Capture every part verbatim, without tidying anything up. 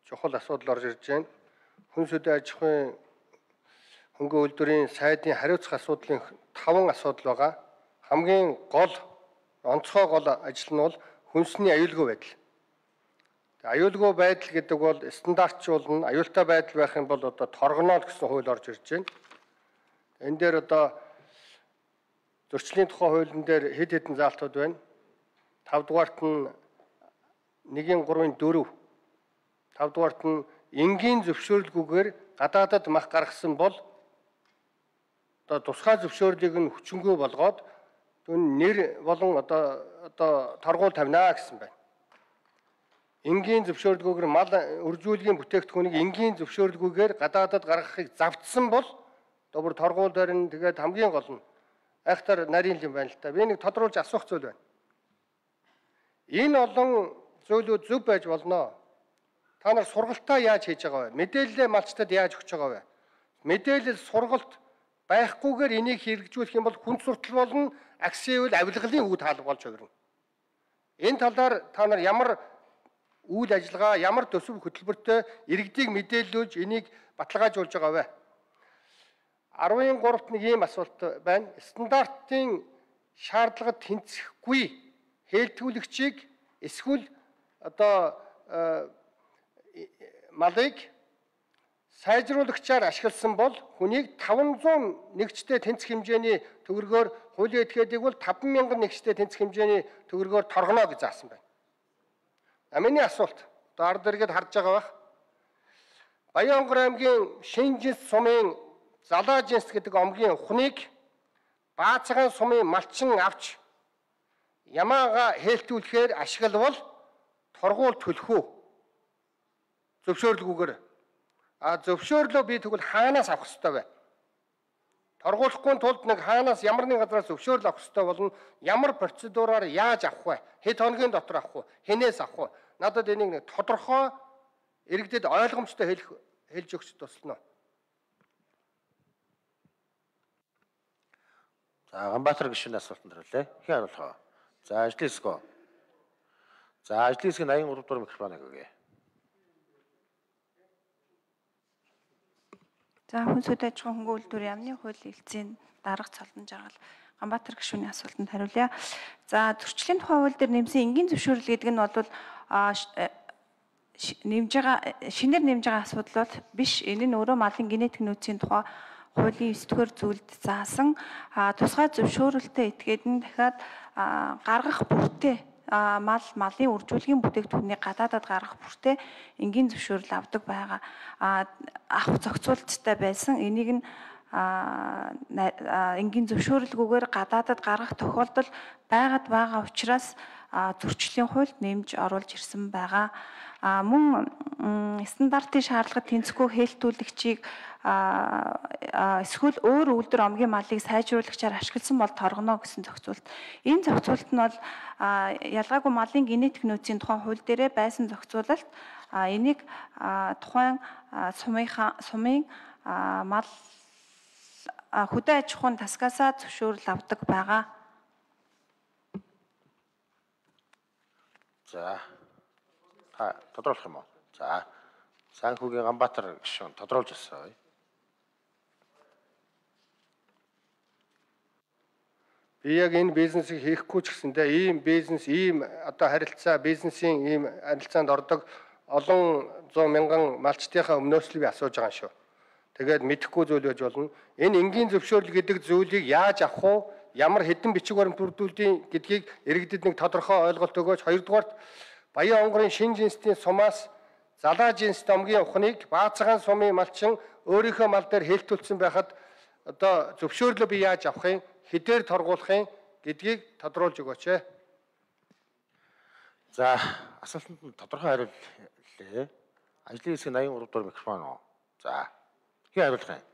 чухал асуудал орж ирж байна. Хүн сүдэн аж ахуйн хөнгөн үйлдвэрийн сайдын хариуцах асуудлын таван асуудал байгаа. Хамгийн гол онцгой гол ажил нь бол хүнсний аюулгүй байдал. Аюулгүй байдал гэдэг бол стандартчуулна, аюултай байдал байх юм бол одоо торгоноо гэсэн хууль орж ирж байна. Энэ дээр одоо зөрчлийн тухай хуулийн дээр хэд хэдэн заалтууд байна. тав дугаарт нь нэгin гурвын дөрөв. тав дугаарт нь энгийн зөвшөөрлгүйгээр гадаадад мах гаргасан бол одоо тусгай зөвшөөрлийг нь хүчингүй болгоод түн нэр болон одоо одоо торгуул тавина гэсэн байна. Энгийн зөвшөөрлгүйгээр мал үржүүлгийн бүтээгдэхүүнийг энгийн зөвшөөрлгүйгээр гадаадад гаргахыг завдсан бол добр торгуул дээр нь тэгээд хамгийн гол нь айхтар нарийн юм байна л та. Би нэг тодруулж асуух зүйл байна. Энэ олон зүйлүүд зөв байж болно. Та нар сургалтаа яаж хийж байгаа вэ? Мэдээлэлээ малчтад яаж өгч байгаа вэ? Мэдээлэл сургалт байхгүйгээр энийг хэрэгжүүлэх юм бол хүн суртал болно, агсивэл авилгалын үе таалга болж хувирна. Энэ талаар та нар ямар үйл ажиллагаа, ямар төсөв хөтөлбөртэй иргэдийг мэдээлүүлж энийг баталгаажуулж байгаа вэ? арван гуравт нэг ийм асуулт байна. Стандартын шаардлагад тэнцэхгүй хэлтгүүлэгчийг эсвэл одоо малыг сайжруулагчаар ашигласан бол хүнийг таван зуун нэгжтэй тэнцэх хэмжээний төгрөгөөр хуулийн этгээдийг бол таван мянган нэгжтэй тэнцэх хэмжээний төгрөгөөр торгоно гэж заасан байна. Амины асуулт одоо ард иргэд харж байгаа бах. Баянгор аймгийн Шинжинс сумын Залаа жинс гэдэг омгийн ухныг Баацхан сумын малчин авч ямаага хэлтүүлэхээр ашиглавал торгуул төлөх үү? Зөвшөөрлгүйгээр. А зөвшөөрлөө би тэгвэл хаанаас авах ёстой вэ? Торгуулахгүй тулд нэг хаанаас ямар нэг газраас зөвшөөрөл авах ёстой болно. Ямар процедураар яаж авах вэ? Хэд хоногийн дотор авах вэ? Хэнээс авах вэ? Надад энийг нэг тодорхой иргэдэд ойлгомжтой хэлэх хэлж өгч туслана. За Ганбаатар гишүүний асуултанд хариулъя. Хэн хариулах вэ? За ажлын хэсгөө. За ажлын хэсгийн аян гурав дугаар микрофоныг өгье. За хүн сүдэн аж ахуйн хөнгөн үйлдвэрийн яамны хуулийн хэлцээний дарга цолон жаргал Ганбаатар гишүүний асуултанд хариулъя. За зөрчлийн тухай хууль дээр нэмсэн энгийн зөвшөөрөл гэдэг нь бол нэмж байгаа шинээр нэмж байгаа асуудал бол биш. Энэ нь өөрөө малын генетик нөөцийн тухай хуулийн девять дугаар зүйлд заасан тусгай зөвшөөрөлтөй этгээд нь дахиад гаргах бүртээ мал малын үржүүлгийн бүтээгдэхүүнийг гадаадад гаргах бүртээ энгийн зөвшөөрөл авдаг байгаа. Авах зохицуулттай байсан. Энийг нь энгийн зөвшөөрлгүйгээр гадаадад гаргах тохиолдол байгаад байгаа учраас зөрчлийн хуульд нэмж оруулж ирсэн байгаа. Мөн стандартын шаардлагад тэнцэхгүй хэлтүүлэгчийг эсвэл өөр үйлдвэр омгийн малыг сайжруулагчаар ашигласан бол торгоно гэсэн зохицуулт. Энэ зохицуулт нь бол ялгаагүй малын генетик нөөцийн тухайн хууль дээрээ байсан зохицуулалт. Энийг тухайн сумынхаа сумын мал хөдөө аж ахуйн тасгаасаа зөвшөөрөл авдаг байгаа. За та тодруулах юм уу? За Санхүүгийн Ганбаатар гишүүн тодруулж өгсөн. Би яг энэ бизнесийг хийхгүй ч гэсэндээ ийм бизнес, ийм одоо харилцаа, бизнесийн ийм харилцаанд ордог олон зуун мянган малчтынхаа өмнөөс л би асууж байгаа шүү. Тэгээд мэдэхгүй зүйл байж болно. Энэ энгийн зөвшөөрөл гэдэг зүйлийг яаж авах вэ? Ямар хэдэн бичиг баримт бүрдүүлдэг гэдгийг иргэдэд нэг тодорхой ойлголт өгөөч. Хоёрдугаарт Баян онгорын Шинжинсийн сумаас Залаа жинс омгийн ухныг Баацхан сумын малчин өөрийнхөө мал дээр хэлтүүлсэн байхад одоо зөвшөөрлөө би яаж авах юм? Хэдээр торгуулах юм гэдгийг тодруулж өгөөч. За асуултанд нь тодорхой хариуллаа. Ажлын хэсгийн аян гурав дугаар микрофон уу? За хэн хариулах юм?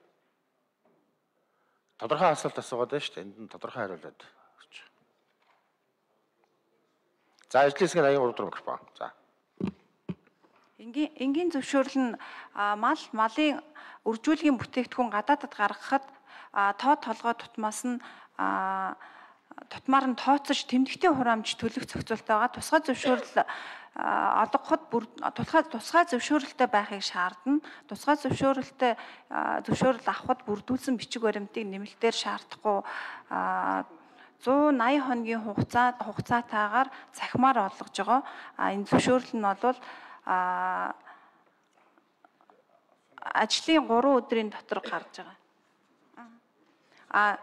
Тодорхой асуулт асуугаад байна шүү дээ. Энд нь тодорхой хариулаад өгч. За ажлын хэсгийн аян гурав дугаар микрофон. За Энгийн энгийн зөвшөөрөл нь мал малын үржүүлгийн бүтээгдэхүүн гадаадад гаргахад тоо толгой тутмаас нь тутмаар нь тооцож тэмдэгтэй хураамж төлөх зохицуулалт байгаа. Тусгай зөвшөөрөл олгоход бүр тусгай тусгай зөвшөөрөлтэй байхыг шаардна. Тусгай зөвшөөрөлтэй зөвшөөрөл авахд бүрдүүлсэн бичиг баримтыг нэмэлтээр шаардахгүй зуун аян хоногийн хугацаа хугацаатаагаар цахимаар олгож байгаа. А энэ зөвшөөрөл нь бол а ажлын гурван өдрийн дотор гарч байгаа. А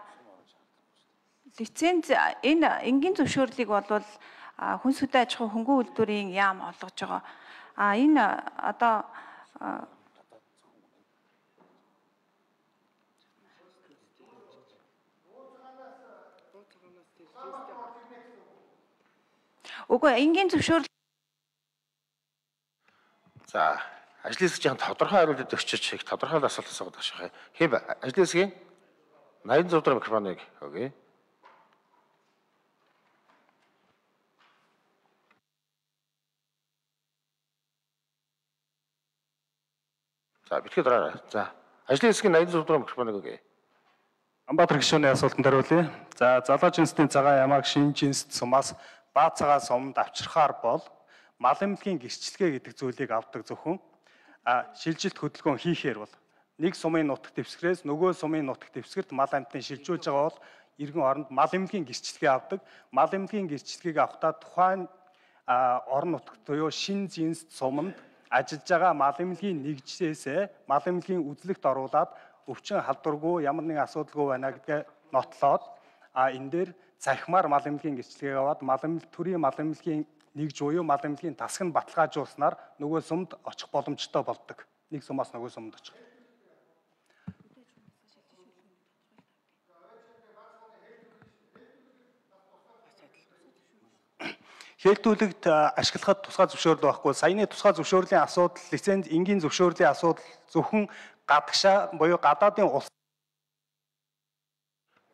лиценз энэ энгийн зөвшөөрлийг бол хүнс хөдөө аж ахуй хөнгөн үйлдвэрийн яам олгож байгаа. А энэ одоо Үгүй энгийн зөвшөөрөл. За ажлын хэсэг жоохон тодорхой хариулт өгчөж их тодорхой асуулт асуугаад ашиг. Хэв ажлын хэсгийн найман зураг микрофоныг өгье. За битгий дараарай. За ажлын хэсгийн найман зураг микрофоныг өгье. Амбатар гишүүний асуултанд хариулъя. За залуу жинсний цагаан ямааг шинэ жинсд сумаас баа цагаан сумд авчрахаар бол мал эмнэлгийн гэрчлэгээ гэдэг зүйлийг авдаг зөвхөн а шилжилт хөдөлгөөн хийхээр бол нэг сумын нутаг дэвсгэрээс нөгөө сумын нутаг дэвсгэрт мал амьтныг шилжүүлж байгаа бол иргэн оронд мал эмнэлгийн гэрчлэгээ авдаг. Мал эмнэлгийн гэрчлэгийг авахдаа тухайн орон нутагт буюу шинэ жинсд суманд ажиллаж байгаа мал эмнэлгийн нэгжээсээ мал эмнэлгийн үзлэгт оруулаад өвчин халдваргүй ямар нэгэн асуудалгүй байна гэдгээ нотлоод а энэ дээр цахимаар мал эмнэлгийн гэрчлэгийг аваад мал эмнэлэг төрийн мал эмнэлгийн нэгж буюу мал эмнэлгийн тасаг нь баталгаажуулснаар нөгөө сумд очих боломжтой болдог. Нэг сумаас нөгөө сумд очих. Хэлтүүлэгт ашиглахад тусгай зөвшөөрөл байхгүй. Саяны тусгай зөвшөөрлийн асуудал, лиценз энгийн зөвшөөрлийн асуудал зөвхөн гадагшаа буюу гадаадын улс.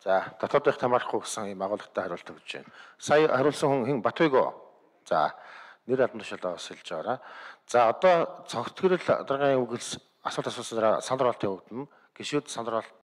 За дотоодынх хамаарахгүй гэсэн юм агуулгатай хариулт өгч байна. Сая хариулсан хүн хэн Батбайг. За нэр албан тушаалаа бас хэлж байгаараа. За одоо цогцгөрөл дараагийн үгс асуулт асуусан санал хураалтын өвдөн гишүүд санал хураалт